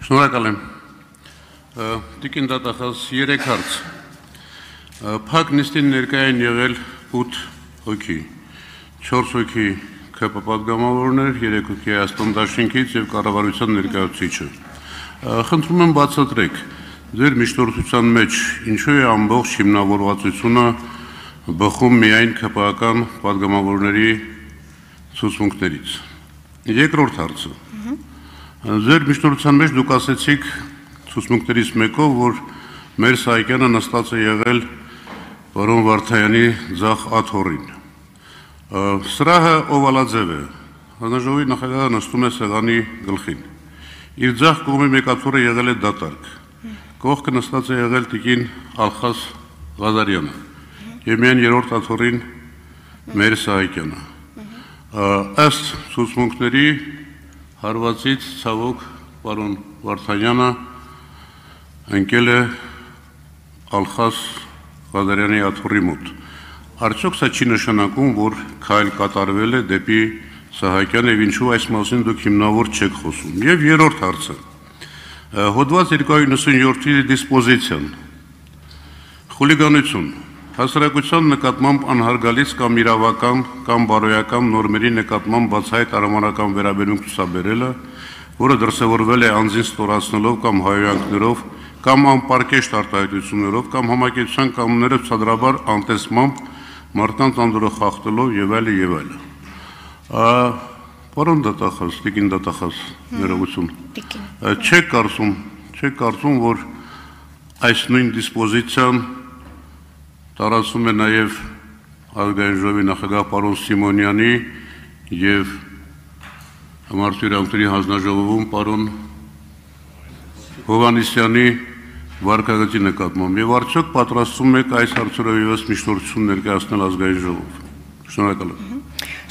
Շնորհակալ եմ։ Տիկին դատախազ 3 հարց։ Փակ նիստին ներկայ են եղել 8 հոգի, 4 հոգի ՔՊ պատգամավորներ, 3 հոգի Հայաստան դաշինքից եւ կառավարության ներկայացուցիչը։ Խնդրում եմ բացատրեք, ձեր միջնորդության մեջ ինչու է ամբողջ հիմնավորվածությունը բխում միայն ՔՊ-ական պատգամավորների ցուցմունքներից։ Երկրորդ հարցը։ Ձեր միջնորդության մեջ դուք ասեցիք ցուցմունքներից մեկով, որ մեր Սահակյանը նստած է եղել պարոն Վարդայանի ձախ աթոռին։ Սրահը օվալաձև է, հանրաժողովի նախագահը նստում է սեղանի գլխին։ Իր ձախ կողմի մեկ աթոռը եղել է դատարկ, կողքը նստած է եղել տիկին Ալխաս Ղազարյանը եւ միայն երրորդ աթոռին մեր Սահակյանը։ Ըստ ցուցմունքների հարվածից ցավոք պարոն Վարդանյանը ընկել է Ալխաս Ղազարյանի աթոռի մոտ։ Արդյոք սա չի նշանակում, որ քայլ կատարվել է դեպի Սահակյանը եւ ինչու այս մասին դուք հիմնավոր չեք խոսում։ Եվ երրորդ հարցը։ Հոդված 297-ի դիսպոզիցիան։ Խուլիգանություն հասարակության նկատմամբ անհարգալից կամ իրավական կամ բարոյական նորմերի նկատմամբ բացահայտ արամանական վերաբերմունք ցուցաբերելը, որը դրսևորվել է անձին ստորացնելով կամ հայոյանքներով կամ անպարկեշտ արտահայտություններով կամ համակեցության կանոնները ցածրաբար անտեսմամբ մարդկանց անդորը խախտելով եւ այլն եւ այլն։ Պարոն դատախազ, տիկին դատախազ, ներողություն։ Չեք կարծում, որ այս նույն դիսպոզիցիան տարածվում է նաև ազգային ժողովի նախագահ պարոն Սիմոնյանի եւ Մարդու իրավունքների հանձնաժողովում պարոն Հովհաննիսյանի վարկագծի նկատմամբ եւ արդյոք պատրաստվում եք այս հարցերով եւս միջնորդություն ներկայացնել ազգային ժողով։ Շնորհակալ եմ։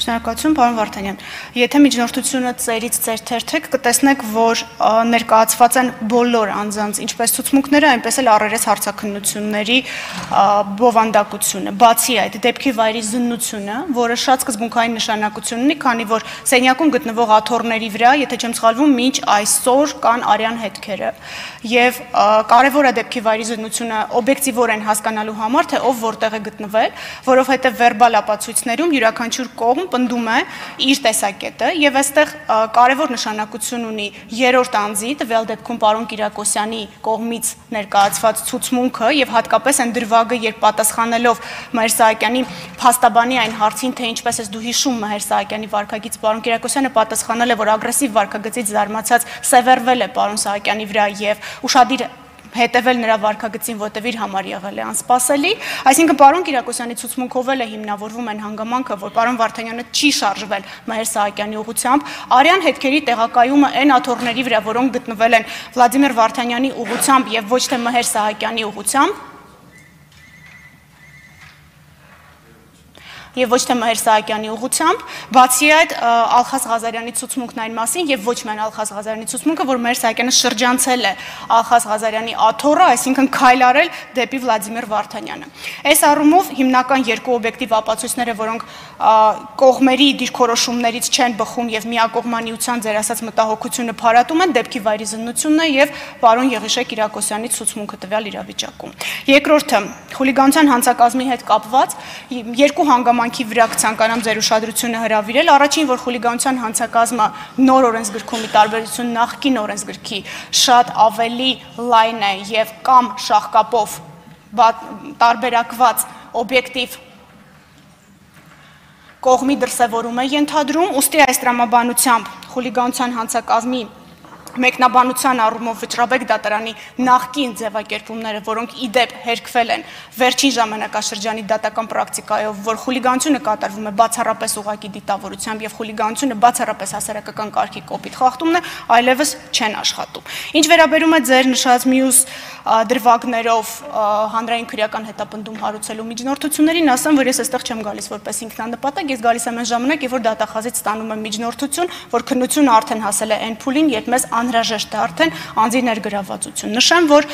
Շնորհակալություն, պարոն Վարդանյան։ Եթե միջնորդությունը ծերից ծեր թերթեք, կտեսնեք, որ ներկայացված են բոլոր անձանց, ինչպես ցուցմունքները, այնպես էլ առերես հարցաքննությունների բովանդակությունը։ Բացի այդ, դեպքի վայրի զննությունը, որը շատ սկզբունքային նշանակություն ունի, քանի որ սենյակում գտնվող աթոռների վրա, եթե չեմ սխալվում, մինչ այսօր կան արյան հետքերը։ Եվ կարևոր է դեպքի վայրի զննությունը օբյեկտիվորեն հասկանալու համար, թե ով որտեղ է գտնվել, որովհետև վերբալ ապացույցներում յուրաքանչյուր կողմ պնդում է իր տեսակետը եւ այստեղ կարևոր նշանակություն ունի երրորդ անձի, տվյալ դեպքում պարոն Կիրակոսյանի կողմից ներկայացված ցուցմունքը եւ հատկապես այն դրվագը, երբ պատասխանելով Մհեր Սահակյանի փաստաբանի այն հարցին, թե ինչպես ես դու հիշում Մհեր Սահակյանի վարկագից, պարոն Կիրակոսյանը պատասխանել է, որ ագրեսիվ վարկագծից զարմացած սևեռվել է պարոն Սահակյանի վրա եւ ուշադիր հետևել նրա վարկագծին, որտեղ իր համար եղել է անսպասելի, այսինքն պարոն Կիրակոսյանի ցուցմունքով էլ է հիմնավորվում այն հանգամանքը, որ պարոն Վարդանյանը չի շարժվել Մհեր Սահակյանի ուղղությամբ, արյան հետքերի տեղակայումը այն աթոռների վրա, որոնք գտնվել են Վլադիմիր Վարդանյանի ուղղությամբ եւ ոչ թե Մհեր Սահակյանի ուղղությամբ, եւ ոչ թե Մհեր Սահակյանի ուղղությամբ, բացի այդ Ալխաս Ղազարյանի ցուցմունքն այն մասին եւ ոչ միայն Ալխաս Ղազարյանի ցուցմունքը, որ Մհեր Սահակյանը շրջանցել է Ալխաս Ղազարյանի աթոռը, այսինքն քայլ արել դեպի Վլադիմիր Վարդանյանը։ Այս առումով հիմնական երկու օբյեկտիվ ապացույցները, որոնք կողմերի դիրքորոշումներից չեն բխում եւ միակողմանիության ձեր ասած մտահոգությունը փարատում են, դեպքի վայրի զննությունն է եւ պարոն Եղիշե Կիրակոսյանի ցուցմունքը տվյալ իրավիճակում։ Երկրորդը խուլիգանության հանցակազմի հետ կապված երկու հանգամանքի վրա կցանկանամ ձեր ուշադրությունը հրավիրել։ Առաջին, որ խուլիգանության հանցակազմը նոր օրենսգրքում ի տարբերություն նախկին օրենսգրքի շատ ավելի լայն է եւ կամ շահկապով տարբերակված օբյեկտիվ կողմի դրսևորում է ենթադրում, ուստի այս տրամաբանությամբ խուլիգանության հանցակազմի մեկնաբանության առումով Վճռաբեկ դատարանի նախկին ձևակերպումները, որոնք ի դեպ հերքվել են վերջին ժամանակաշրջանի դատական պրակտիկայով, որ խուլիգանությունը կատարվում է բացառապես ուղղակի դիտավորությամբ եւ խուլիգանությունը բացառապես հասարակական կարգի կոպիտ խախտումն է, այլևս չեն աշխատում։ Ինչ վերաբերում է ձեր նշած մյուս դրվագներով հանրային քրեական հետապնդում հարուցելու միջնորդություններին, ասեմ, որ ես այստեղ չեմ գալիս որպես ինքնանպատակ, ես գալիս եմ այն ժամանակ, երբ որ դատախազից ստանում եմ միջնորդություն, որ քննությունը արդեն հասել է այն փուլին, երբ մեզ անհրաժեշտ է արդեն անձի ներգրավվածություն։ Նշեմ, որ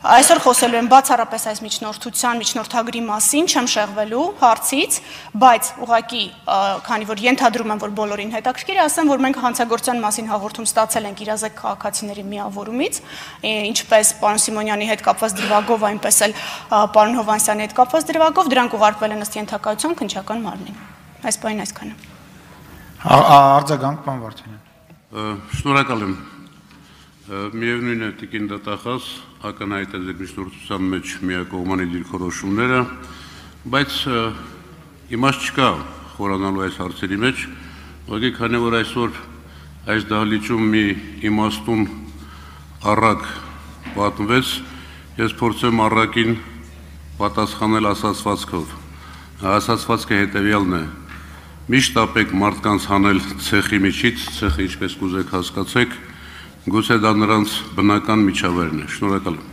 Այսօր խոսելու եմ բացառապես այս միջնորդագրի մասին, չեմ շեղվելու հարցից, բայց ուղղակի, քանի որ ենթադրում եմ, որ բոլորին հետաքրքիր է, ասեմ, որ մենք հանցագործության մասին հաղորդում ստացել ենք իրազեկ քաղաքացիների միավորումից, ինչպես պարոն Սիմոնյանի հետ կապված դրվագով, այնպես էլ պարոն Հովհաննիսյանի հետ կապված դրվագով, դրանք ուղարկվել են ըստ ենթակայության քննչական մարմնին։ Այս բանին այսքանը։ Արձագանք, պարոն Վարդանյան։ Շնորհակալ եմ։ Միևնույն է տիկին դատախազ ակնհայտ է ձեր միջնորդության մեջ միակողմանի դիրքորոշումները, բայց իմաստ չկա խորանալու այս հարցերի մեջ, ուղղակի քանի որ այսօր այս դահլիճում մի իմաստուն առակ պատմվեց, ես փորձեմ առակին պատասխանել ասացվածքով։ Ասացվածքը հետևյալն է. միշտ ապեք մարդկանց հանել ցեխի միջից, ցեխը ինչպես կուզեք հասկացեք, գուցե դա նրանց բնական միջավայրն է։ Շնորհակալ եմ։